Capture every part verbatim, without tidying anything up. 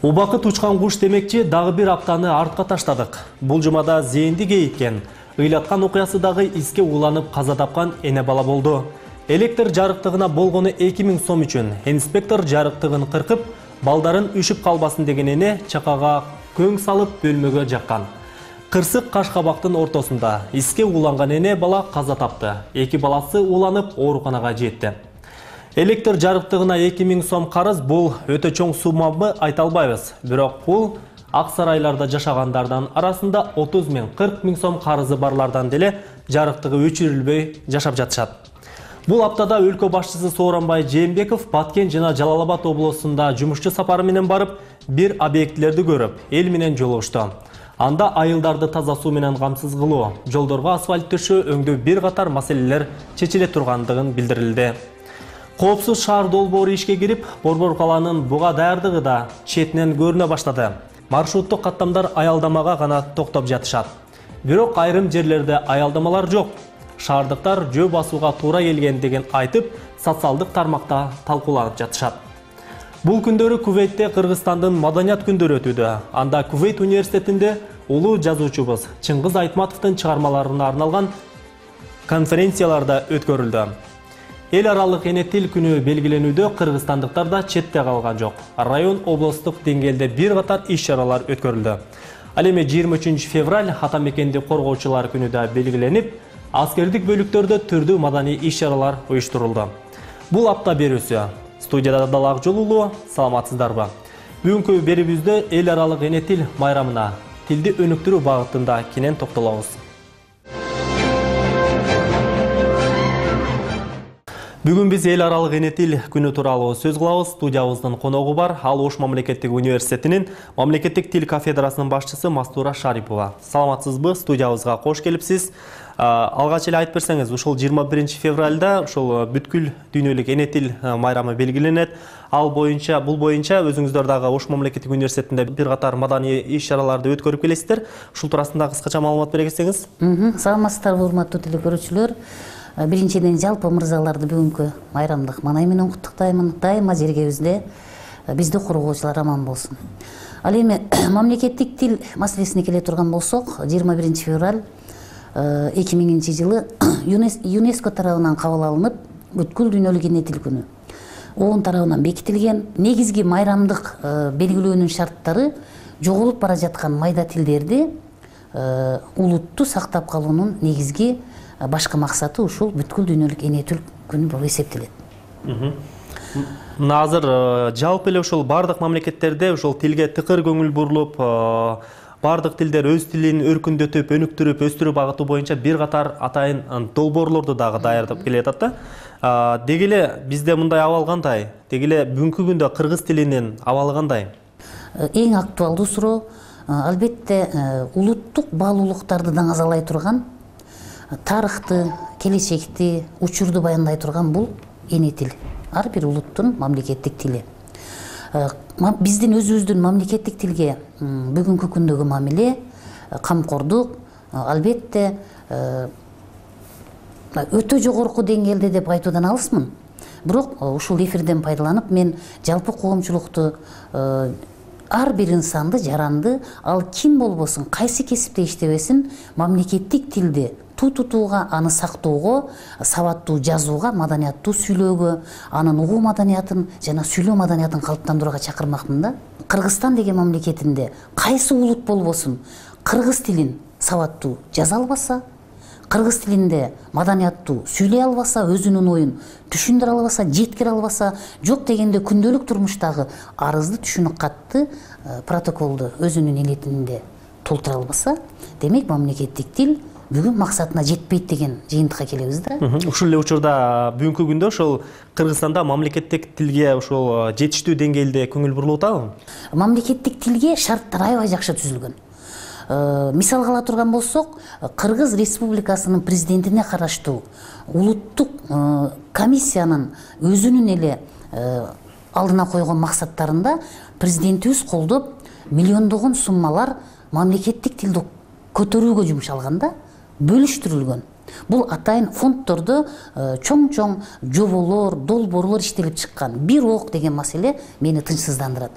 Убакыт учкан куш демекчи дагы бир аптаны артка таштадык. Бул жумада зээнди кейиткен, ыйлаткан окуясы дагы иске уланып каза тапкан эне бала болду. Электр жарыктыгына болгону эки миң сом үчүн инспектор жарыктыгын кыркып, балдарын үшүп калбасын деген эне чакага көң салып бөлмөгө жаккан. Кырсык каш кабактын ортосунда иске уланган эне бала каза тапты. Эки баласы уланып ооруканага жетти. Электр жарыктыгына эки миң сом карыз бул өтө чоң суммамы айта албайбыз. Бирок бул ак сарайларда жашагандардан арасында отуз миң кырк миң сом карызы барлардан деле жарыктыгы өчүрүлбөй жашап жатышат. Бул аптада өлкө башчысы Сооронбай Жээнбеков Баткен жана Жалал Абад облусунда жумушчу сапары менен барып, бир объектлерди көрүп, эл менен жолугушту. Анда айылдарды таза суу менен камсыз кылуу, жолдорго асфальт төшөө өңдүү бир катар маселелер чечиле тургандыгын билдирилди. Коопсуз шаар долбоору ишке кирип, Борбор калаанын буга даярдыгы да четинен көрүнө баштады. Маршруттук каттамдар аялдамага гана токтоп жатышат. Бирок айрым жерлерде аялдамалар жок. Шаардыктар жөө басууга туура келгендигин айтып, социалдык тармакта талкууланып жатышат. Бул күндөрү Кувейтте Кыргызстандын маданият күндөрү өтүүдө. Анда Кувейт университетинде улуу жазуучубуз Чыңгыз Айтматовдун чыгармаларына арналган конференцияларда өткөрүлдү. Эл аралык эне тил күнү белгиленүүдө кыргызстандыктар да четте калган жок. Район облустук деңгээлде бир катар иш-чаралар өткөрүлдү. Ал эми жыйырма үчүнчү февраль ата мекенди коргоочулар күнү да белгиленип, аскердик бөлүктөрдө түрдүү маданий иш-чаралар уюштурулду. Бул апта берүүсү. Студияда Дала Акжолулуу, саламатсыздарбы? Бүгүнкү берүүбүздө эл аралык эне тил майрамына тилди өнүктүрүү багытында кенен токтолобуз. Бүгүн биз эл аралык эне тил күнү тууралуу сөз кылабыз. Студиябыздын коногу бар. Ал Ош мамлекеттик университетинин мамлекеттик тил кафедрасынын башчысы Мастура Шарипова. Саламатсызбы? Студиябызга кош келипсиз. Алгач эле айтып берсеңиз, ушул жыйырма биринчи февралда ушул бүткүл дүйнөлүк эне тил майрамы белгиленет. Ал боюнча, бул боюнча өзүңүздөр дагы Ош мамлекеттик университетинде бир катар маданий иш-чараларды өткөрүп келесиздер. Ушул туурасында кыскача маалымат бере кетсеңиз. Саламатсыздарбы, урматтуу телекөрүүчүлөр. Биринчиден жалпы мырзаларды бүгүнкү майрамдык маанай менен куттуктаймын. Дайыма жергебизде бизди коргоочулар аман болсун. Ал эми мамлекеттик тил маселесине келе турган болсок, жыйырма биринчи февраль эки миңинчи жылы ЮНЕСКО тарабынан кабыл алынып, бүткүл дүйнөлүк эне тил күнү ООН тарабынан бекитилген. Негизги майрамдык белгилөөнүн шарттары жоголуп бара жаткан майда тилдерди улутту сактап калуунун негизги башкы максаты ушул бүткүл дүйнөлүк эне тил күнү болуп эсептелет. Мына азыр жалпы эле ушул бардык мамлекеттерде ушул тилге тыкыр көңүл бурулуп, бардык тилдер өз тилин өркүндөтүп, өнүктүрүп, өстүрүү багыты боюнча бир катар атайын долбоорлорду дагы даярдап келатат да. Деги эле бизде мындай абал кандай? Деги эле бүгүнкү күндө кыргыз тилинин абалы кандай? Эң актуалдуу суроо албетте улуттук баалуулуктарды даңазалай турган, тарыхты, келечекти, учурду баяндай турган бул эне тил. Ар бир улуттун мамлекеттик тили. Биздин өзүбүздүн мамлекеттик тилге бүгүнкү күндөгү мамиле, камкордук албетте өтө жогорку деңгээлде деп айтуудан алысмын. Бирок ушул эфирден пайдаланып мен жалпы коомчулукту, ар бир инсанды, жаранды, ал ким болбосун, кайсы кесипте иштебесин, мамлекеттик тилди туу тутууга, аны сактоого, сабаттуу жазууга, маданияттуу сүйлөөгө, анын угуу маданиятын жана сүйлөө маданиятын калыптандырууга чакырмакмын да. Кыргызстан деген мамлекетинде кайсы улут болбосун, кыргыз тилин сабаттуу жаза албаса, кыргыз тилинде маданияттуу сүйлөй албаса, өзүнүн оюн түшүндүрө албаса, жеткире албаса, жок дегенде күндөлүк турмуштагы арызды, түшүнүк катты, протоколду өзүнүн эне тилинде толтура албаса, демек мамлекеттик тил бүгүн максатына жетпейт деген жыйынтыкка келебиз да. Ушул эле учурда бүгүнкү күндө ушул Кыргызстанда мамлекеттик тилге ушул жетиштүү деңгээлде көңүл бурулуп атабы? Мамлекеттик тилге шарттар аябай жакшы түзүлгөн. Мисалга ала турган болсок, Кыргыз Республикасынын президентине караштуу улуттук комиссиянын өзүнүн эле алдына койгон максаттарында президентибиз колдоп миллиондогон суммалар мамлекеттик тилди көтөрүүгө жумшалган да, бөлүштүрүлгөн. Бул атайын фонддордо чоң-чоң жоболор, долбоорлор иштелип чыккан. Бирок деген маселе мени тынчсыздандырат.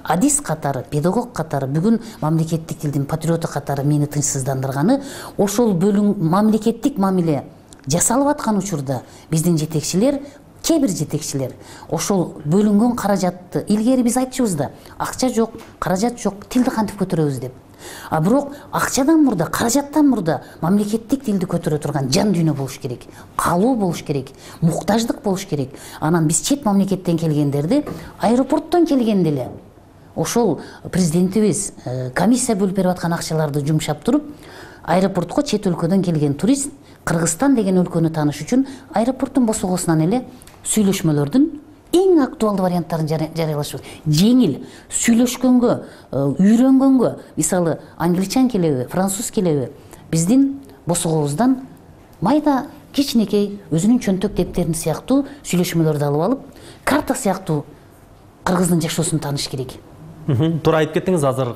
Адис катары, педагог катары, бүгүн мамлекеттик тилдин патриоту катары мени тынчсыздандырганы ошол бөлүң мамлекеттик мамиле жасалып аткан учурда биздин жетекчилер, кээ бир жетекчилер ошол бөлүнгөн каражатты илгери биз айтчубуз да, акча жок, каражат жок, тилди кантип көтөрөбүз деп. А бирок акчадан мурда, каражаттан мурда мамлекеттик тилди көтөрө турган жан дүйнө болуш керек, каалоо болуш керек, муктаждык болуш керек. Анан биз чет мамлекеттен келгендерди аэропорттон келгенде эле ошол президентибиз комиссия бөлүп берип аткан акчаларды жумшап туруп, аэропортко чет өлкөдөн келген турист Кыргызстан деген өлкөнү тааныш үчүн аэропорттун босогосунан эле сүйлөшмөлөрдүн эң актуалдуу варианттарын жарыялашыбыз. Жеңил сүйлөшкөнгө, үйрөнгөнгө, мисалы англичан келеби, француз келеби, биздин босогобуздан майда кичинекей өзүнүн чөнтөк дептерин сыяктуу сүйлөшмөлөрдү алып алып, карта сыяктуу кыргыздын жашоосун тааныш керек. Туура айтып кеттиңиз, азыр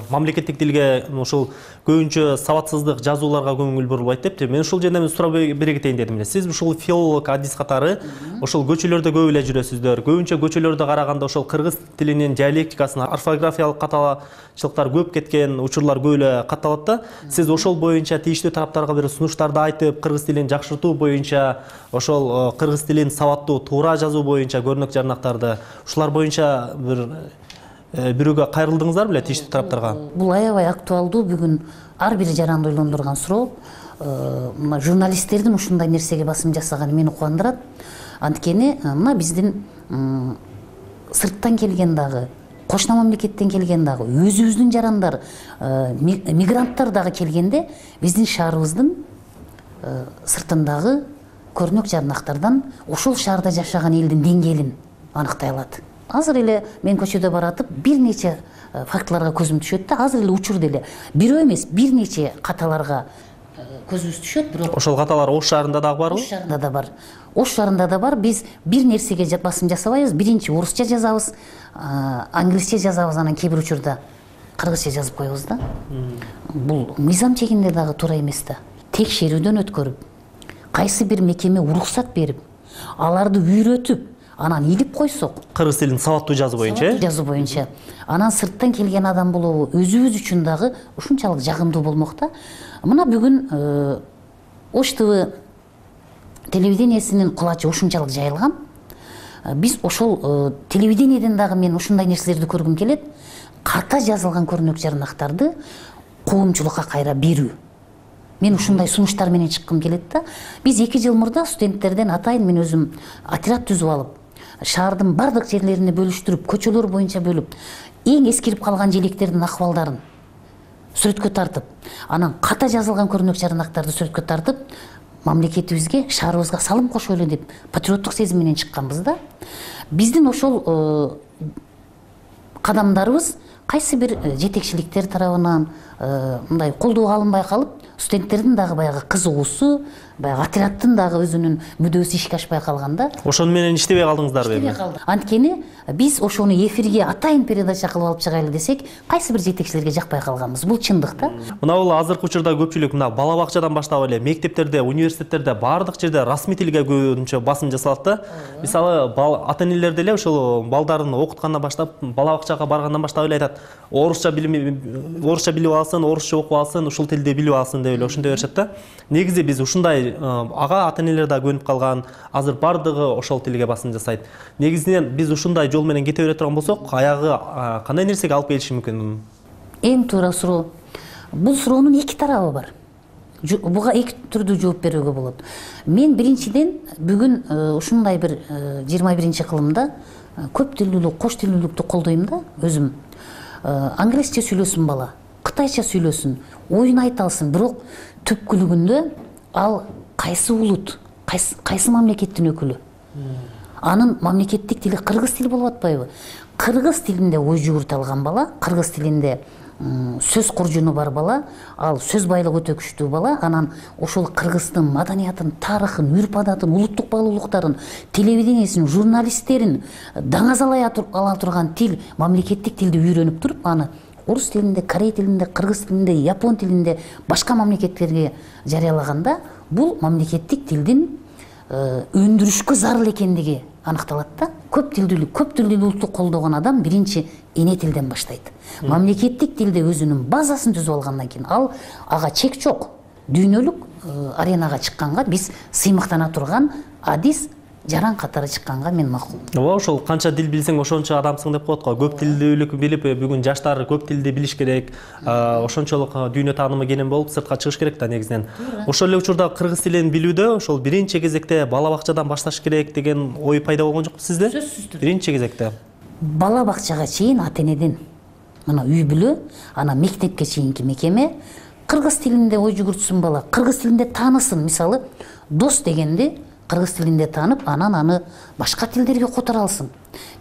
мамлекеттик тилге ошол көбүнчө сабатсыздык, жазууларга көңүл бурулбайт деп, мен ушул жерден сурап бере кетейин дедим эле. Сиз ушул филолог, адис катары ошол көчөлөрдө көп эле жүрөсүздөр. Көбүнчө көчөлөрдө караганда ошол кыргыз тилинин диалектикасын, орфографиялык каталачылыктар көп кеткен учурлар көп эле катталат да. Сиз ошол боюнча тийиштүү тараптарга бир сунуштарды айтып, кыргыз тилин жакшыртуу боюнча, ошол кыргыз тилин сабаттуу, туура жазуу боюнча көрнөк жарнактарды, ушулар боюнча бир бирөөгө кайрылдыңыздар беле тийиштүү тараптарга? Бул аябай актуалдуу, бүгүн ар бир жаранды ойлондурган суроо. Мына журналисттердин ушундай нерсеге басым жасаганы мени кубандырат. Анткени мына биздин сырттан келген дагы, кошуна мамлекеттен келген дагы, өзүбүздүн жарандар, мигранттар дагы келгенде биздин шаарыбыздын сыртындагы көрнөк жарнактардан ошол шаарда жашаган элдин деңгээлин аныктай алат. Азыр эле мен көчөдө баратып бир нече фактыларга көзүм түшөт да, азыр эле учурда эле бирөө эмес, бир нече каталарга көзүбүз түшөт, бирок ошол каталар Ош шаарында дагы барбы? Ош шаарында да бар. Ош шаарында да бар. Биз бир нерсеге басым жасабайбыз. Биринчи орусча жазабыз, англисче жазабыз, анан кээ бир учурда кыргызча жазып коебуз да. Бул мыйзам чегинде дагы туура эмес да. Текшерүүдөн өткөрүп, кайсы бир мекеме уруксат берип, аларды үйрөтүп, анан илип койсок, кыргыз тилин сабаттуу жазуу боюнча, жазуу боюнча, анан сырттан келген адам болобу, өзүбүз үчүн дагы ушунчалык жагымдуу болмок да. Мына бүгүн Ош ТВ телевидениесинин кулачы ушунчалык жайылган. Биз ошол телевидениеден дагы мен ушундай нерселерди көргүм келет. Ката жазылган көрнөк жарнактарды коомчулукка кайра берүү. Мен ушундай сунуштар менен чыккым келет да. Биз эки жыл мурда студенттерден атайын мен өзүм отряд түзүп алып, шаардын бардык жерлерине бөлүштүрүп, көчөлөр боюнча бөлүп, эң эскирип калган желектердин акыбалдарын сүрөткө тартып, анан ката жазылган көрнөк жарнактарды сүрөткө тартып, мамлекетибизге, шаарыбызга салым кошолу деп патриоттук сезим менен чыкканбыз да. Биздин ошол кадамдарыбыз кайсы бир жетекчиликтер тарабынан мындай колдоого алынбай калып, студенттердин дагы баягы кызыгуусу, баягы отряддын дагы өзүнүн мүдөөсү ишке ашпай калганда. Ошону менен иштебей калдыңыздарбы? Иштебей калдык. Анткени биз ошону эфирге атайын передача кылып алып чыгайлы десек, кайсы бир жетекчилерге жакпай калганбыз. Бул чындык да. Мына бул азыркы учурда көпчүлүк мына бала бакчадан баштап эле мектептерде, университеттерде баардык жерде расмий тилге көбүнчө басым жасалат да. Мисалы ата энелер деле ошол балдарын окуткандан баштап, бала бакчага баргандан баштап эле айтат, орусча билим, орусча билип алсын, орусча окуп алсын, ушул тилди билип алсын деп эле ошондой беришет да. Негизи биз ушундай ага ата энелер да көнүп калган, азыр бардыгы ошол тилге басым жасайт. Негизинен биз ушундай жол менен кете бере турган болсок, аягы кандай нерсеге алып келиши мүмкүн? Эң туура суроо. Бул суроонун эки тарабы бар. Буга эки түрдүү жооп берүүгө болот. Мен биринчиден бүгүн ушундай бир жыйырма биринчи кылымда көп тилдүүлүк, кош тилдүүлүктү колдойм да өзүм. Англисче сүйлөсүн бала, кытайча сүйлөсүн, оюн айта алсын, бирок түпкүлүгүндө ал кайсы улут, кайсы, кайсы мамлекеттин өкүлү? Анын мамлекеттик тили кыргыз тили болуп атпайбы? Кыргыз тилинде ой жүгүртө алган бала, кыргыз тилинде сөз куржуну бар бала, ал сөз байлыгы өтө күчтүү бала, анан ошол кыргыздын маданиятын, тарыхын, үрп адатын, улуттук баалуулуктарын, телевидениесин, журналисттерин даңазалай ала турган тил, мамлекеттик тилди үйрөнүп туруп, аны орус тилинде, корей тилинде, кыргыз тилинде, япон тилинде, башка мамлекеттерге жарыялаганда, бул мамлекеттик тилдин өндүрүшкө зарыл экендиги аныкталат да. Көп тилдүүлүк, көп тилдүү улутту колдогон адам биринчи эне тилден баштайт. Мамлекеттик тилде өзүнүн базасын түзүп алгандан кийин ал ага чек жок. Дүйнөлүк аренага чыкканга биз сыймыктана турган адис жаран катары чыкканга мен макул. Ооба, ошол канча тил билсең ошончо адамсың деп коет го. Көп тилдүүлүк билип, бүгүн жаштар көп тилди билиш керек. Ошончолук дүйнө таанымы кенен болуп сыртка чыгыш керек да негизинен. Ошол эле учурда кыргыз тилин билүүдө ошол биринчи кезекте бала бакчадан башташ керек деген ой пайда болгон жокпу сизде? Сөзсүз. Биринчи кезекте. Бала бакчага чейин ата энеден, мына үй бүлө, анан мектепке чейинки мекеме кыргыз тилинде ой жүгүртсүн бала, кыргыз тилинде таанысын. Мисалы, дос дегенди кыргыз тилинде таанып, анан аны башка тилдерге которо алсын.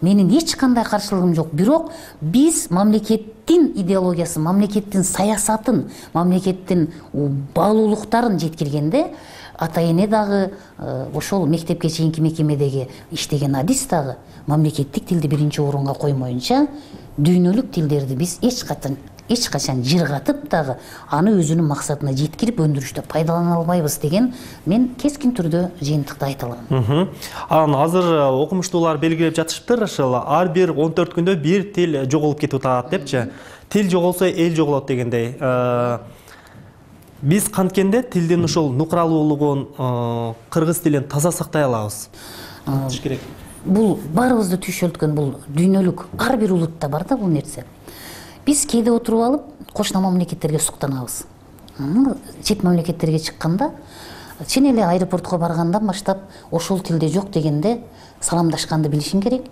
Менин эч кандай каршылыгым жок. Бирок биз мамлекеттин идеологиясын, мамлекеттин саясатын, мамлекеттин баалуулуктарын жеткиргенде ата эне дагы, ошол мектепке чейинки мекемедеги иштеген адис дагы мамлекеттик тилди биринчи орунга коймоюнча дүйнөлүк тилдерди биз эч качан эч качан жыргатып дагы аны өзүнүн максатына жеткирип өндүрүштө пайдалана албайбыз деген мен кескин түрдө жыйынтыкта айта алам. Анан азыр окумуштуулар белгилеп жатышыптыр, ошол ар бир он төрт күндө бир тил жоголуп кетип атат депчи. Тил жоголсо эл жоголот дегендей. Биз канткенде тилдин ушул нукралуулугун, кыргыз тилин таза сактай алабыз. Керек. Бул баарыбызды түйшөлткөн, бул дүйнөлүк ар бир улутта бар да бул нерсе. Биз кээде отуруп алып, кошуна мамлекеттерге суктанабыз. Чет мамлекеттерге чыкканда, чын эле аэропортко баргандан баштап ошол тилде жок дегенде саламдашканды билишиң керек.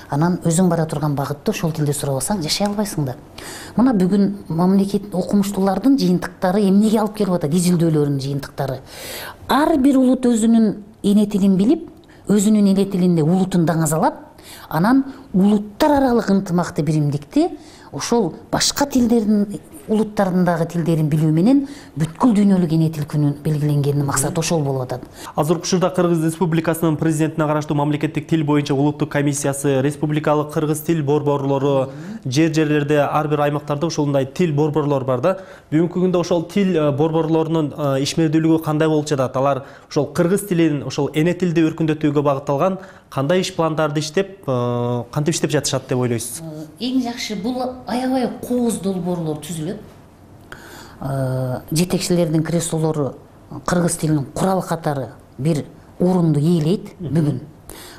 Анан өзүң бара турган багытты ошол тилде сурабасаң жашай албайсың да. Мына бүгүн мамлекет окумуштуулардын жыйынтыктары эмнеге алып келип атат? Изилдөөлөрүнүн жыйынтыктары. Ар бир улут өзүнүн эне тилин билип, өзүнүн эне тилинде улутун даңазалап, анан улуттар аралык ынтымакты, биримдикти ошол башка тилдердин улуттардагы тилдерин билүү менен бүткүл дүйнөлүк эне тил күнүн белгиленгенин максаты ошол болуп атат. Азыркы учурда Кыргыз Республикасынын президентине караштуу мамлекеттик тил боюнча улуттук комиссиясы, республикалык кыргыз тил борборлору, жер жерлерде ар бир аймактарда ошондой тил борборлор бар да. Бүгүнкү күндө ошол тил борборлорунун ишмердүүлүгү кандай болуп жатат? Алар ошол кыргыз тилин, ошол эне тилди өркүндөтүүгө багытталган кандай иш пландарды иштеп, кантип иштеп жатышат деп ойлойсуз? Эң жакшы бул аябай кооз долбоорлор түзүлөт. Жетекчилердин креслолору кыргыз тилинин курал катары бир орунду ээлейт бүгүн.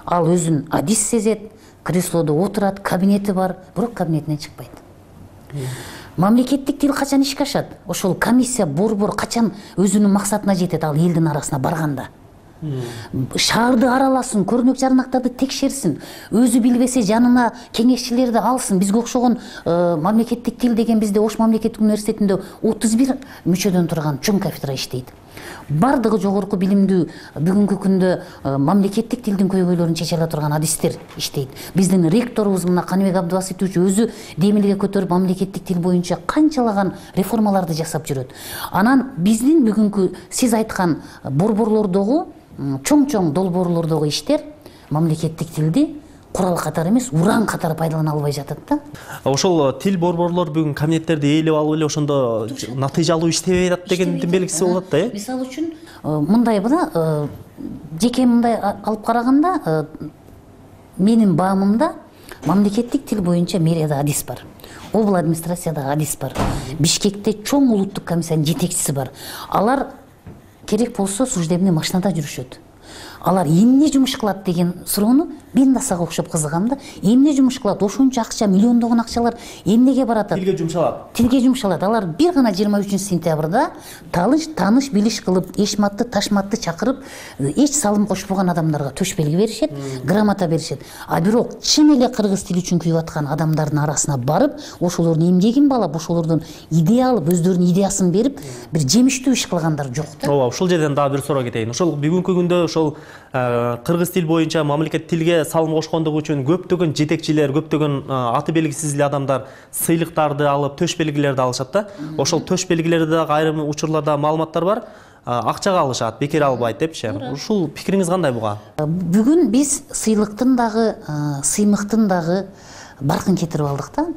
Ал өзүн адис сезет, креслодо отурат, кабинети бар, бирок кабинетинен чыкпайт. Мамлекеттик тил качан ишке ашат? Ошол комиссия, борбор качан өзүнүн максатына жетет ал элдин арасына барганда? Шаарды араласын, көрнөк жарнактарды текшерсин, өзү билбесе жанына кеңешчилерди алсын. Бизге окшогон мамлекеттик тил деген бизде Ош мамлекеттик университетинде отуз бир мүчөдөн турган чоң кафедра иштейт. Бардыгы жогорку билимдүү бүгүнкү күндө мамлекеттик тилдин көйгөйлөрүн чече ала турган адистер иштейт. Биздин ректорубуз мына Каныбек Абдыбаситович өзү демилге көтөрүп мамлекеттик тил боюнча канчалаган реформаларды жасап жүрөт. Анан биздин бүгүнкү сиз айткан борборлордогу чоң-чоң долбоорлордогу иштер мамлекеттик тилди курал катары эмес, уран катары пайдалана албай жатат да. Ошол тил борборлор бүгүн кабинеттерди ээлеп алып эле ошондо натыйжалуу иштебей атат дегендин белгиси болот да, э? Мисалы үчүн мындай мына жеке мындай алып караганда менин баамымда мамлекеттик тил боюнча мэрияда адис бар. Обл администрацияда адис бар. Бишкекте чоң улуттук комиссиянын жетекчиси бар. Алар керек болсо служебный машинада жүрүшөт. Алар эмне жумуш кылат деген суроону мен да сага окшоп кызыгам да. Эмне жумуш кылат? Ошончо акча, миллиондогон акчалар эмнеге барат? Тилге жумшалат. Тилге жумшалат. Алар бир гана жыйырма үчүнчү сентябрда таныш таныш билиш кылып, эшматты, ташматты чакырып, эч салым кошпогон адамдарга төш белги беришет, грамота беришет. А бирок чын эле кыргыз тили үчүн күйүп аткан адамдардын арасына барып, ошолордун эмгегин баалап, ошолордун идея алып, өздөрүнүн идеясын берип, бир жемиштүү иш кылгандар жок да. Ооба, ушул жерден дагы бир суроо кетейин. Ошол бүгүнкү күндө ошол кыргыз тил боюнча мамлекет тилге салым кошкондугу үчүн көптөгөн жетекчилер, көптөгөн аты белгисиз эле адамдар сыйлыктарды алып, төш белгилерди алышат да. Ошол төш белгилерде дагы айрым учурларда маалыматтар бар, акчага алышат, бекер албайт депчи. Ушул пикириңиз кандай буга? Бүгүн биз сыйлыктын дагы, сыймыктын дагы баркын кетирип алдык да.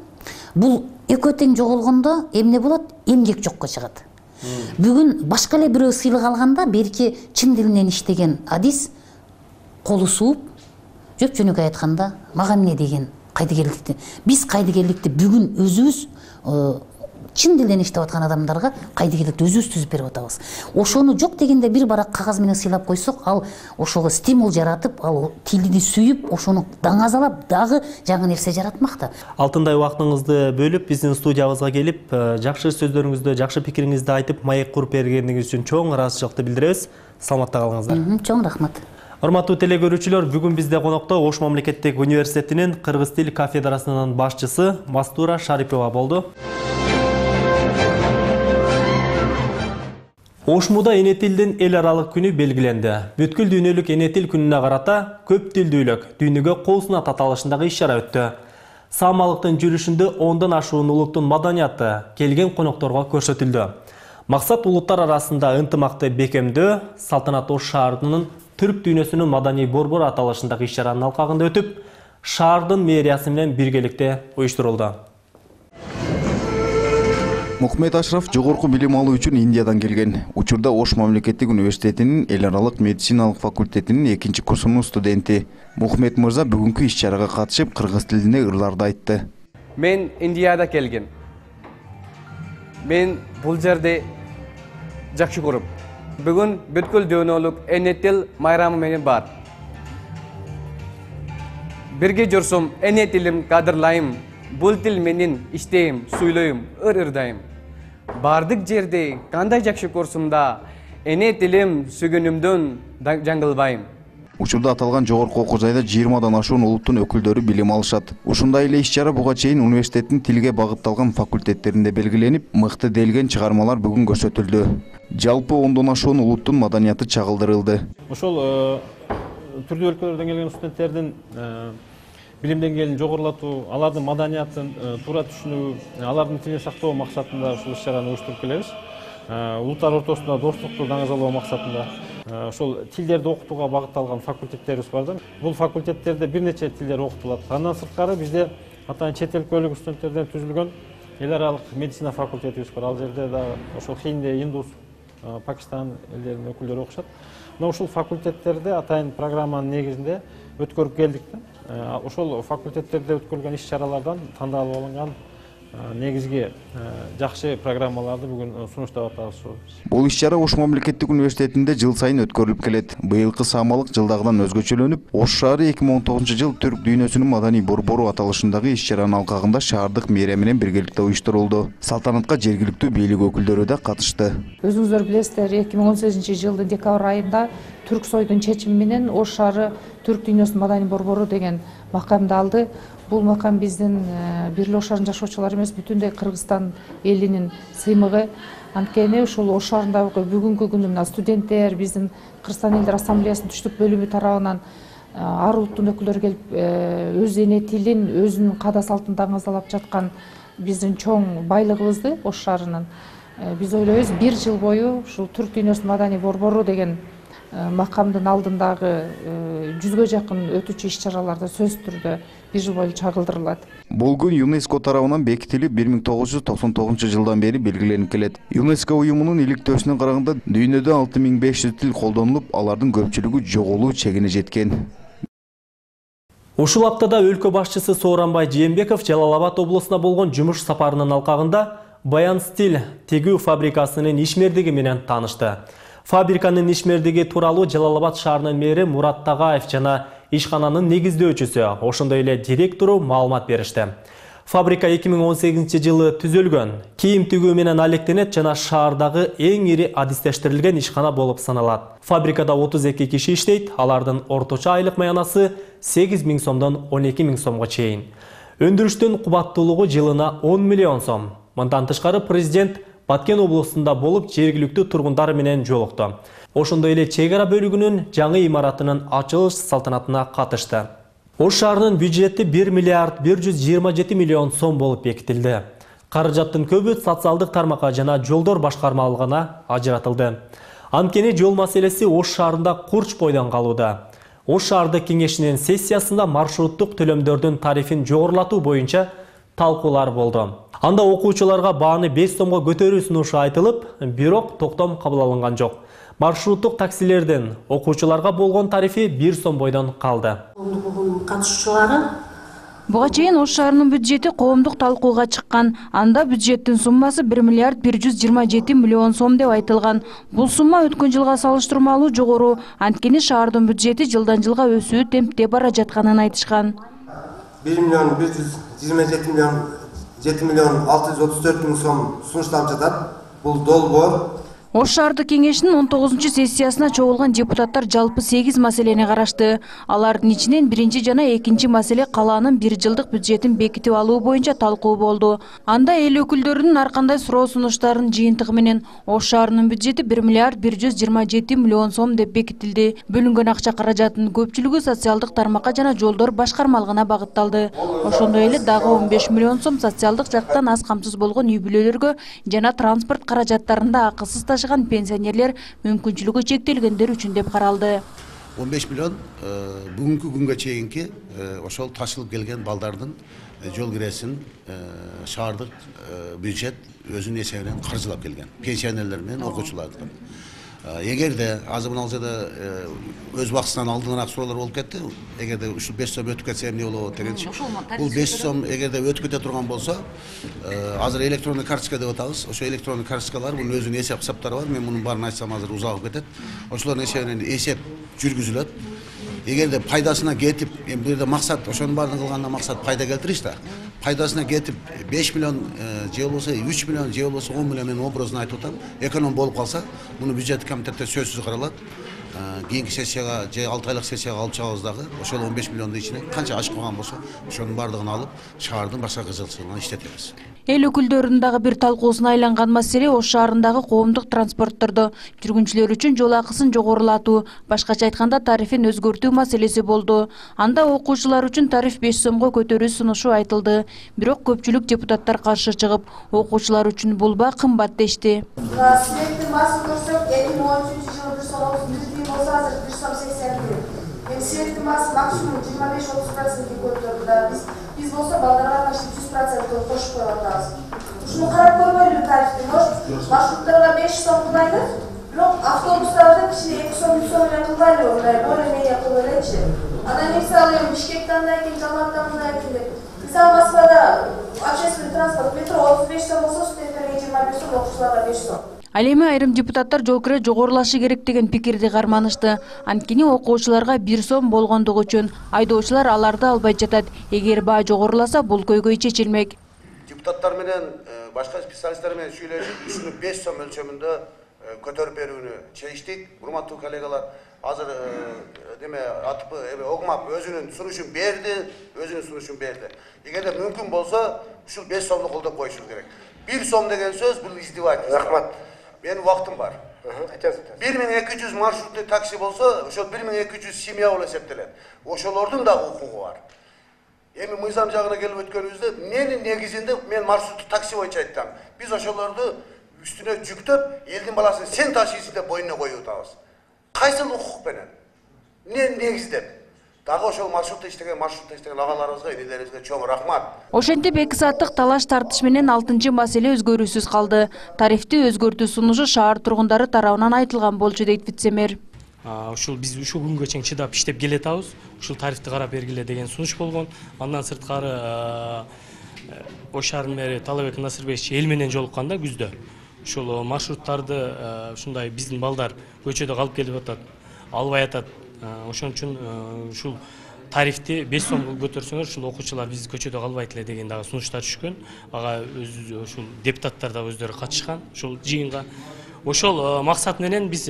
Бул экөө тең жоголгондо эмне болот? Эмгек жокко чыгат. Бүгүн башка эле бирөө сыйлык алганда берки чын дилинен иштеген адис колу сууп, жөп жөнөкөй айтканда мага эмне деген кайдыгерликти. Биз кайдыгерликти бүгүн өзүбүз чын дилден иштеп аткан адамдарга кайдыгерликти өзүбүз түзүп берип атабыз. Ошону жок дегенде бир барак кагаз менен сыйлап койсок, ал ошого стимул жаратып, ал тилди сүйүп, ошону даңазалап дагы жаңы нерсе жаратмакта. Алтындай убактыңызды бөлүп, биздин студиябызга келип, жакшы сөздөрүңүздү, жакшы пикириңизди айтып, маек куруп бергениңиз үчүн чоң ыраазычылыкты билдиребиз. Саламатта калыңыздар. Чоң рахмат. Урматтуу телегөрүүчүлөр, бүгүн бизде конокто Ош мамлекеттик университетинин кыргыз тил кафедрасынын башчысы Мастура Шарипова болду. Ошмуда эне тилдин эл аралык күнү белгиленди. Бүткүл дүйнөлүк эне тил күнүнө карата көп тилдүүлүк дүйнөгө кол сунат аталышындагы иш-чара өттү. Саамалыктын жүрүшүндө ондон ашуун улуттун маданияты келген конокторго көрсөтүлдү. Максат улуттар арасында ынтымакты бекемдөө, салтанат Ош шаарынын түрк дүйнөсүнүн маданий борбору аталышындагы иш-чаранын алкагында өтүп, шаардын мэриясы менен биргеликте уюштурулду. Мухмед Ашраф жогорку билим алуу үчүн Индиядан келген. Учурда Ош мамлекеттик университетинин эл аралык медициналык факультетинин экинчи курсунун студенти. Мухмед мырза бүгүнкү иш-чарага катышып, кыргыз тилинде ырларды айтты. Мен Индияда келген. Мен бул жерде жакшы көрүп. Бүгүн бүткүл дүйнөлүк эне тил майрамы менен бар. Бирге жүрсөм, эне тилим кадырлайм. Бул тил менен иштейм, сүйлөйм, ыр-ырдайм. Бардык жерде кандай жакшы көрсөм да, эне тилим сүйгөнүмдөн жаңылбайм. Учурда аталган жогорку окуу жайда жыйырмадан ашуун улуттун өкүлдөрү билим алышат. Ушундай эле иш-чара буга чейин университеттин тилге багытталган факультеттеринде белгиленип, мыкты делген чыгармалар бүгүн көрсөтүлдү. Жалпы ондон ашуун улуттун маданияты чагылдырылды. Ошол түрдүү өлкөлөрдөн келген студенттердин билим деңгээлин жогорулатуу, алардын маданиятын туура түшүнүү, алардын тилин сактоо максатында ушул иш-чараны уюштуруп келебиз. Улуттар ортосунда достукту даңазалоо максатында ошол тилдерди окутууга багытталган факультеттерибиз бар да. Бул факультеттерде бир нече тилдер окутулат. Андан сырткары бизде атайын чет өлкөлүк студенттерден түзүлгөн эл аралык медицина факультетибиз бар. Ал жерде да ошол Хинди, Индус, Пакистан элдеринин өкүлдөрү окушат. Мына ушул факультеттерде атайын программанын негизинде өткөрүп келдик да. Ошол факультеттерде өткөрүлгөн иш-чаралардан тандалып алынган негизги жакшы программаларды бүгүн сунуштап атабыз. Бул иш-чара Ош мамлекеттик университетинде жыл сайын өткөрүлүп келет. Быйылкы саамалык жылдагыдан өзгөчөлөнүп, Ош шаары эки миң он тогузунчу жыл түрк дүйнөсүнүн маданий борбору аталышындагы иш-чаранын алкагында шаардык мэрия менен биргеликте уюштурулду. Салтанатка жергиликтүү бийлик өкүлдөрү да катышты. Өзүңүздөр билесиздер, эки миң он сегизинчи жылдын декабрь айында Түрк сойдун чечими менен Ош шаары түрк дүйнөсүнүн маданий борбору деген макамды алды. Бул макам биздин бир эле Ош шаарынын жашоочулары эмес, бүтүндөй Кыргызстан элинин сыймыгы. Анткени ушул Ош шаарындагы бүгүнкү күнү мына студенттер, биздин Кыргызстан элдер ассамблеясынын түштүк бөлүмү тарабынан ар улуттун өкүлдөрү келип өз эне тилин, өзүнүн каада салтын даңазалап жаткан биздин чоң байлыгыбызды Ош шаарынын. Биз ойлойбуз, бир жыл бою ушул түрк дүйнөсүнүн маданий борбору деген макамдын алдындагы жүзгө жакын өтүүчү иш-чараларда сөзсүз түрдө бир жыл бою чагылдырылат. Бул күн ЮНЕСКО тарабынан бекитилип бир миң тогуз жүз токсон тогузунчу жылдан бери белгиленип келет. ЮНЕСКО уюмунун иликтөөсүнө караганда дүйнөдө алты миң беш жүз тил колдонулуп, алардын көпчүлүгү жоголуу чегине жеткен. Ушул аптада өлкө башчысы Сооронбай Жээнбеков Жалал Абад облусуна болгон жумуш сапарынын алкагында Баян Стиль тегүү фабрикасынын ишмердиги менен таанышты. Фабриканын ишмердиги тууралуу Жалал Абад шаарынын мэри Мурат Тагаев жана ишкананын негиздөөчүсү, ошондой эле директору маалымат беришти. Фабрика эки миң он сегизинчи жылы түзүлгөн, кийим тигүү менен алектенет жана шаардагы эң ири адистештирилген ишкана болуп саналат. Фабрикада отуз эки киши иштейт, алардын орточо айлык маянасы сегиз миң сомдон он эки миң сомго чейин. Өндүрүштүн кубаттуулугу жылына он миллион сом. Мындан тышкары президент Баткен облусунда болуп жергиликтүү тургундар менен жолукту. Ошондой эле чек ара бөлүгүнүн жаңы имаратынын ачылыш салтанатына катышты. Ош шаарынын бюджети бир миллиард бир жүз жыйырма жети миллион сом болуп бекитилди. Каражаттын көбү социалдык тармакка жана жолдор башкармалыгына ажыратылды. Анткени жол маселеси Ош шаарында курч бойдон калууда. Ош шаардык кеңешинин сессиясында маршруттук төлөмдөрдүн тарифин жогорулатуу боюнча талкуулар болду. Анда окуучуларга бааны беш сомго көтөрүү сунушу айтылып, бирок токтом кабыл алынган жок. Маршруттук таксилердин окуучуларга болгон тарифи бир сом бойдон калды. Катышуучулары Буга чейин Ош шаарынын бюджети коомдук талкууга чыккан. Анда бюджеттин суммасы бир миллиард бир жүз жыйырма жети миллион сом деп айтылган. Бул сумма өткөн жылга салыштырмалуу жогору. Анткени шаардын бюджети жылдан жылга өсүү темпте бара жатканын айтышкан. бир миллион бир жүз жыйырма жети миллион жети миллион алты жүз отуз төрт миң сом сунушталып жатат. Бул долбоор. Ош шаардык кеңешинин он тогузунчу сессиясына чогулган депутаттар жалпы сегиз маселени карашты. Алардын ичинен биринчи жана экинчи маселе калаанын бир жылдык бюджетин бекитип алуу боюнча талкуу болду. Анда эл өкүлдөрүнүн ар кандай суроо сунуштарынын жыйынтыгы менен Ош шаарынын бюджети бир миллиард бир жүз жыйырма жети миллион сом деп бекитилди. Бөлүнгөн акча каражатынын көпчүлүгү социалдык тармакка жана жолдор башкармалыгына багытталды. Ошондой эле дагы он беш миллион сом социалдык жактан аз камсыз болгон үй бүлөлөргө жана транспорт каражаттарында акысыз пенсионерлер мүмкүнчүлүгү чектелгендер үчүн деп каралды. он беш миллион бүгүнкү күнгө чейинки ошол ташылып келген балдардын жол киресин шаардык бюджет өзүнүн эсебинен каржылап келген. Пенсионерлер менен окуучуларды. Эгерде азыр мына жерде өз убактысынан алдынараак суроолор болуп кетти. Эгерде ушул беш сом өтүп кетсе эмне болот дегенчи. Бул беш сом эгерде өтүп кете турган болсо, азыр электронный карточка деп атабыз. Ошо электронный карточкалар бунун өзүнүн эсеп кысаптары бар. Мен мунун баарын айтсам азыр узагып кетет. Ошолордун эсебинен эсеп жүргүзүлөт. Эгерде пайдасына кетип, эми бул жерде максат ошонун баарын кылганда максат пайда келтириш да. Пайдасына кетип беш миллион же болбосо үч миллион же болбосо он миллион мен образын айтып атам. Эконом болуп калса, муну бюджет комитетте сөзсүз каралат. Кийинки сессияга же алты айлык сессияга алып чыгабыз дагы. Ошол он беш миллиондун ичине канча ашып калган болсо, ошонун баардыгын алып шаардын башка кызыкчылыгына иштетебиз. Эл өкүлдөрүнүн дагы бир талкуусуна айланган маселе Ош шаарындагы коомдук транспорттордо жүргүнчүлөр үчүн жол акысын жогорулатуу, башкача айтканда тарифин өзгөртүү маселеси болду. Анда окуучулар үчүн тариф беш сомго көтөрүү сунушу айтылды. Бирок көпчүлүк депутаттар каршы чыгып, окуучулар үчүн бул ба кымбат дешти. Светтин басын көрсөк, эки миң он үчүнчү жылы бир сом отуз бир тиын болсо, азыр бир сом сексен тиын. Эми светтин басы максимум жыйырма беш отуз процентке көтөрдү да. Биз биз болсо балдарга кашып жүз процент кошуп коюп атабыз. Ушуну карап көрбөйлү тарифти. Может, маршруттарга беш сом кылбайлы, бирок автобустарда кичине эки сом, үч сом менен кылбайлы, мындай более-менее кылып элечи. Анан мисалы Бишкекте андай экен, Жалматта мындай экен деп. Мисалы Москвада общественный транспорт метро отуз беш сом болсо, студенттерге жыйырма беш сом, окуучуларга беш сом. Ал эми айрым депутаттар жол кире жогорулашы керек деген пикирди карманышты. Анткени окуучуларга бир сом болгондугу үчүн айдоочулар аларды албай жатат. Эгер баа жогоруласа, бул көйгөй чечилмек. Депутаттар менен башка специалисттер менен сүйлөшүп, ушуну беш сом өлчөмүндө көтөрүп берүүнү чечтик. Урматтуу коллегалар, азыр деме атып эме огмап өзүнүн сунушун берди, өзүнүн сунушун берди. Эгерде мүмкүн болсо, ушул беш сомду колдоп коюшубуз керек. бир сом деген сөз бул издевательство. Рахмат. Менин убактым бар. бир миң эки жүз маршруттуу такси болсо, ошол бир миң эки жүз семья болуп эсептелет. Ошолордун дагы укугу бар. Эми мыйзам жагына келип өткөнүбүздө, менин негизинде мен маршруттуу такси боюнча айттым. Биз ошолорду үстүнө жүктөп, элдин баласын сен ташыйсың деп боюна коюп атабыз. Кайсыл укук менен? Эмне негиздеп? Дагы ошол маршрутта иштеген, маршрутта иштеген агаларыбызга, энелерибизге чоң рахмат. Ошентип эки сааттык талаш тартыш менен алтынчы маселе өзгөрүүсүз калды. Тарифти өзгөртүү сунушу шаар тургундары тарабынан айтылган болчу дейт вице-мэр. Ушул биз ушул күнгө чейин чыдап иштеп келатабыз. Ушул тарифти карап бергиле деген сунуш болгон. Андан сырткары Ош шаарынын мэри Талабек Насырбекович эл менен жолукканда күздө ушул маршруттарды ушундай биздин балдар көчөдө калып келип атат, албай атат. Ошон үчүн ушул тарифти беш сомго көтөрсөңөр, ушул окуучулар биз көчөдө калбайт эле деген дагы сунуштар түшкөн. Ага ушул депутаттар да өздөрү катышкан ушул жыйынга. Ошол максат менен биз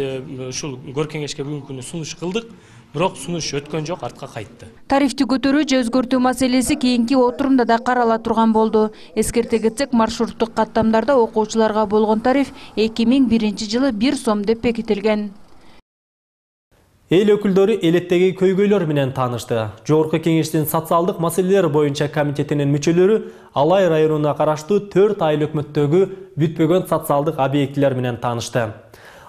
ушул көр кеңешке бүгүнкү күнү сунуш кылдык, бирок сунуш өткөн жок, артка кайтты. Тарифти көтөрүү же өзгөртүү маселеси кийинки отурумда да карала турган болду. Эскерте кетсек, маршруттук каттамдарда окуучуларга болгон тариф эки миң биринчи жылы бир сом деп бекитилген. Эл өкүлдөрү элеттеги көйгөйлөр менен таанышты. Жогорку кеңештин социалдык маселелер боюнча комитетинин мүчөлөрү Алай районуна караштуу төрт айыл өкмөттөгү бүтпөгөн социалдык объектилер менен таанышты.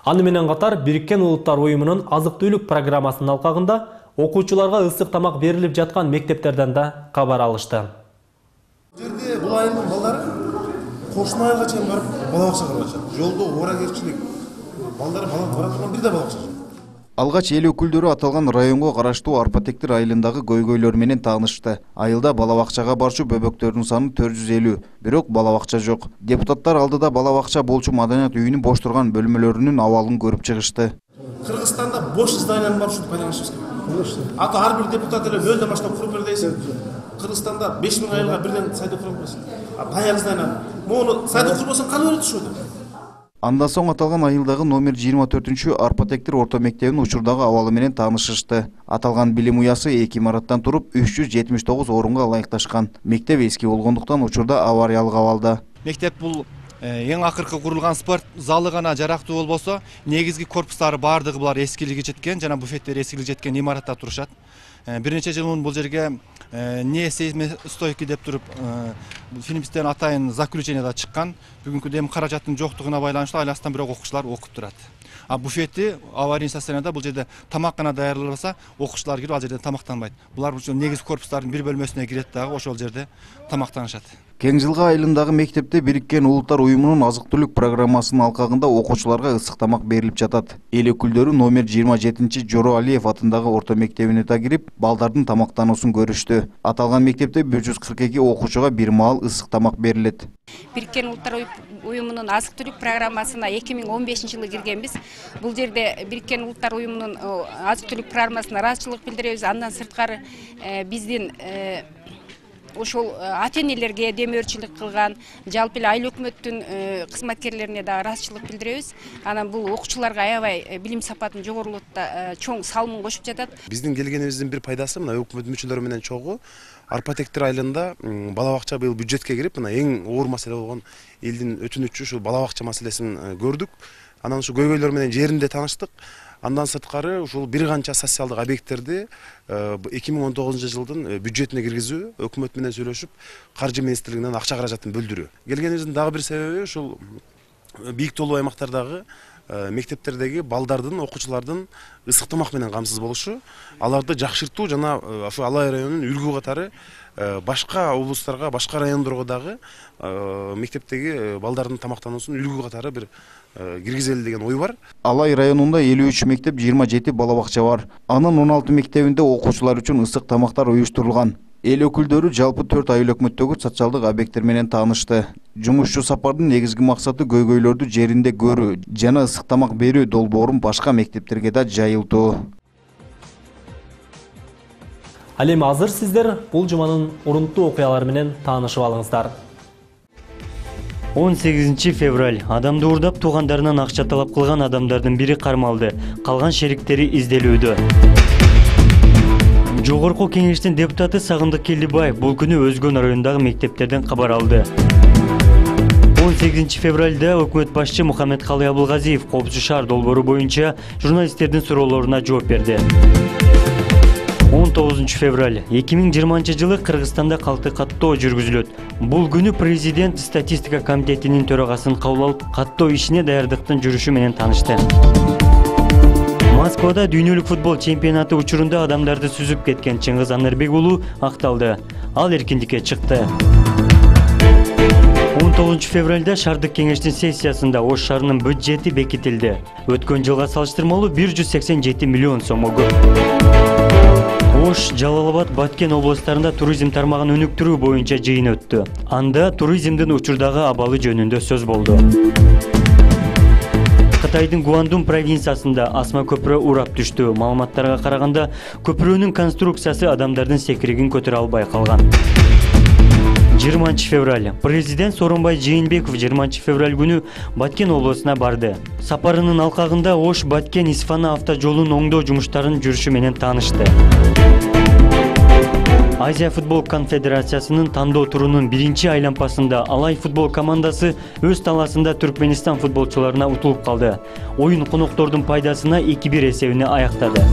Аны менен катар Бириккен Улуттар уюмунун азык-түлүк программасынын алкагында окуучуларга ысык тамак берилип жаткан мектептерден да кабар алышты. Жерде бул айылдын балдары кошуна айылга чейин барып бала бакчага барышат. Жолдо ооракерчилик балдары бала бара турган бир да бала бакча жок. Алгач эл өкүлдөрү аталган районго караштуу Арпатектир айылындагы көйгөйлөр менен таанышты. Айылда бала бакчага барчу бөбөктөрдүн саны төрт жүз элүү, бирок бала бакча жок. Депутаттар алдыда бала бакча болчу маданият үйүнүн бош турган бөлмөлөрүнүн абалын көрүп чыгышты. Кыргызстанда бош зданияны барып ушинтип пайдаланышыбыз керек. Ата ар бир депутат эле нөлдөн баштап куруп бер дейсиң. Кыргызстанда беш миң айылга бирден сайды куруп бересиң. А даяр здания. Мону сайды курбосоң кандай болот ошол? Андан соң аталган айылдагы номер жыйырма төртүнчү Арпатектир орто мектебинин учурдагы абалы менен таанышышты. Аталган билим уясы эки имараттан туруп үч жүз жетимиш тогуз орунга ылайыкташкан. Мектеп эски болгондуктан учурда авариялык абалда. Мектеп бул эң акыркы курулган спорт залы гана жарактуу болбосо, негизги корпустары баардыгы булар эскилиги жеткен жана буфеттери эскилиги жеткен имаратта турушат. Бир нече жыл мун бул жерге не сейсмостойкий деп туруп финибизден атайын заключение да чыккан. Бүгүнкү дем каражаттын жоктугуна байланыштуу айластан бирок окуучулар окуп турат. А буфети аварийный состояниеда бул жерде тамак гана даярдалбаса, окуучулар кирип ал жерде тамактанбайт. Булар бул негизги корпустардын бир бөлмөсүнө кирет дагы ошол жерде тамактанышат. Кең жылга айылындагы мектепте Бириккен Улуттар уюмунун азык-түлүк программасынын алкагында окуучуларга ысык тамак берилип жатат. Эл өкүлдөрү номер жыйырма жетинчи Жоро Алиев атындагы орто мектебине да кирип, балдардын тамактануусун көрүштү. Аталган мектепте бир жүз кырк эки окуучуга бир маал ысык тамак берилет. Бириккен Улуттар уюмунун азык-түлүк программасына эки миң он бешинчи жылы киргенбиз. Бул жерде Бириккен Улуттар уюмунун азык-түлүк программасына ыраазычылык билдиребиз. Андан сырткары биздин ошол ата-энелерге демөөрчүлүк кылган, жалпы эле айыл өкмөттүн кызматкерлерине да ыраазычылык билдиребиз. Анан бул окуучуларга аябай билим сапатын жогорулатта чоң салымын кошуп жатат. Биздин келгенибиздин бир пайдасы мына өкмөт мүчөлөрү менен чогуу Арпатектир айылында бала бакча быйыл бюджетке кирип, мына эң оор маселе болгон элдин өтүнүчү ушул бала бакча маселесин көрдүк. Анан ушу көйгөйлөр менен жеринде тааныштык. Андан сырткары ушул бир канча социалдык объекттерди эки миң он тогузунчу жылдын бюджетине киргизүү, өкмөт менен сүйлөшүп, каржы министрлигинен акча каражатын бөлдүрүү. Келгенибиздин дагы бир себеби ушул бийик тоолуу аймактардагы мектептердеги балдардын, окуучулардын ысык тамак менен камсыз болушу, аларды жакшыртуу жана ошо Алай районунун үлгү катары башка облустарга, башка райондорго дагы мектептеги балдардын тамактануусун үлгү катары бир киргизели деген ой бар. Алай районунда элүү үч мектеп, жыйырма жети бала бакча бар. Анын он алты мектебинде окуучулар үчүн ысык тамактар уюштурулган. Эл өкүлдөрү жалпы төрт айыл өкмөттөгү социалдык объекттер менен таанышты. Жумушчу сапардын негизги максаты көйгөйлөрдү жеринде көрүү жана ысык тамак берүү долбоорун башка мектептерге да жайылтуу. Ал эми азыр сиздер бул жуманын урунттуу окуялары менен таанышып алыңыздар. он сегизинчи февраль адамды уурдап туугандарынан акча талап кылган адамдардын бири кармалды. Калган шериктери изделүүдө. Жогорку кеңештин депутаты Сагындык Келдибаев бул күнү Өзгөн районундагы мектептерден кабар алды. он сегизинчи февралда өкмөт башчы Мухаммедкалый Абылгазиев Коопсуз шаар долбоору боюнча журналисттердин суроолоруна жооп берди. он тогузунчу февраль эки миң жыйырманчы жылы Кыргызстанда калкты каттоо жүргүзүлөт. Бул күнү президент статистика комитетинин төрагасын кабыл алып, каттоо ишине даярдыктын жүрүшү менен таанышты. Москвада дүйнөлүк футбол чемпионаты учурунда адамдарды сүзүп кеткен Чыңгыз Анарбек уулу акталды. Ал эркиндикке чыкты. он тогузунчу февралда шаардык кеңештин сессиясында Ош шаарынын бюджети бекитилди. Өткөн жылга салыштырмалуу бир жүз сексен жети миллион сомго көп. Ош, Жалал-Абад, Баткен областарында туризм тармагын өнүктүрүү боюнча жыйын өттү. Анда туризмдин учурдагы абалы жөнүндө сөз болду. Кытайдын Гуандун провинциясында асма көпүрө урап түштү. Маалыматтарга караганда, көпүрөнүн конструкциясы адамдардын секиригин көтөрө албай калган. жыйырманчы февраль президент Сооронбай Жээнбеков жыйырманчы февраль күнү Баткен облусуна барды. Сапарынын алкагында Ош Баткен Исфана автожолун оңдоо жумуштарынын жүрүшү менен таанышты. Азия футбол конфедерациясынын тандоо турунун биринчи айлампасында Алай футбол командасы өз талаасында Түркменистан футболчуларына утулуп калды. Оюн коноктордун пайдасына эки бир эсебине аяктады.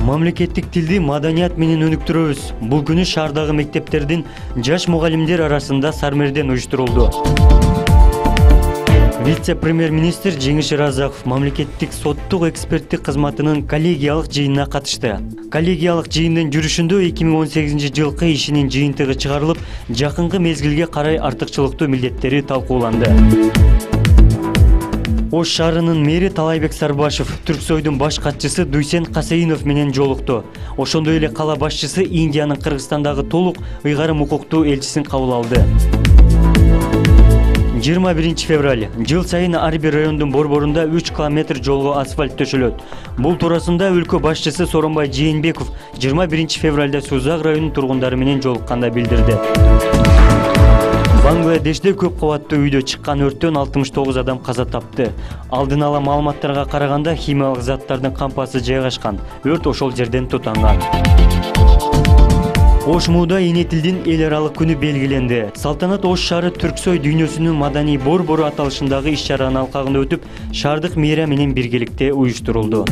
Мамлекеттик тилди маданият менен өнүктүрөбүз. Бул күнү шаардагы мектептердин жаш мугалимдер арасында сармерден уюштурулду. Вице-премьер-министр Жеңиш Ыразаков мамлекеттик соттук эксперттик кызматынын коллегиялык жыйынына катышты. Коллегиялык жыйындын жүрүшүндө эки миң он сегизинчи жылкы ишинин жыйынтыгы чыгарылып, жакынкы мезгилге карай артыкчылыктуу милдеттери талкууланды. Ош шаарынын мэри Талайбек Сарбашев Түрксойдун баш катчысы Дуйсен Касейинов менен жолукту. Ошондой эле кала башчысы Индиянын Кыргызстандагы толук ыйгарым укуктуу элчисин кабыл алды. жыйырма биринчи февраль. Жыл сайын ар бир райондун борборунда үч километр жолго асфальт төшөлөт. Бул туурасында өлкө башчысы Соронбай Жээнбеков жыйырма биринчи февралда Сузак районунун тургундары менен жолукканда билдирди. Бангладеште көп кабаттуу үйдө чыккан өрттөн алтымыш тогуз адам каза тапты. Алдын ала маалыматтарга караганда химиялык заттардын кампасы жайгашкан. Өрт ошол жерден тутанган. Ош Мууда эне тилдин эл аралык күнү белгиленди. Салтанат Ош шаары Түрксой дүйнөсүнүн маданий борбору аталышындагы иш-чаранын алкагында өтүп, шаардык мэрия менен биргеликте уюштурулду.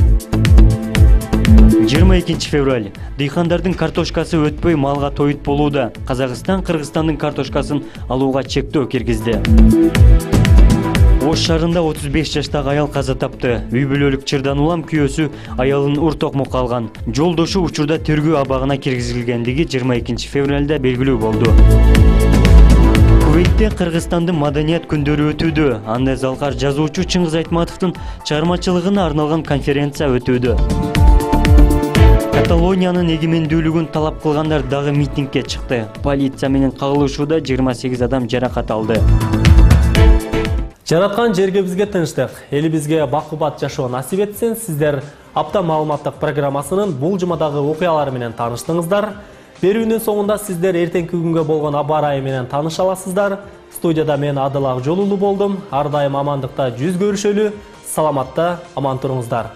жыйырма экинчи февраль. Дыйкандардын картошкасы өтпөй малга тоют болууда. Казакстан Кыргызстандын картошкасын алууга чектөө киргизди. Ош шаарында отуз беш жаштагы аял каза тапты. Үй бүлөлүк чырдан улам күйөөсү аялын ур токмокко алган. Жолдошу учурда тергөө абагына киргизилгендиги жыйырма экинчи февралда белгилүү болду. Кувейтте Кыргызстандын маданият күндөрү өтүүдө. Анда залкар жазуучу Чыңгыз Айтматовдун чыгармачылыгына арналган конференция өтүүдө. Каталониянын эгемендүүлүгүн талап кылгандар дагы митингге чыкты. Полиция менен кагылышууда жыйырма сегиз адам жаракат алды. Жараткан жерге бизге тынчтык, элибизге бакубат жашоо насип этсин. Сиздер апта маалыматтык программасынын бул жумадагы окуялары менен тааныштыңыздар. Берүүнүн соңунда сиздер эртеңки күнгө болгон аба ырайы менен тааныша аласыздар. Студияда мен Адыл Акжолулу болдум. Ар дайым амандыкта жүз көрүшөлү, саламатта аман туруңуздар.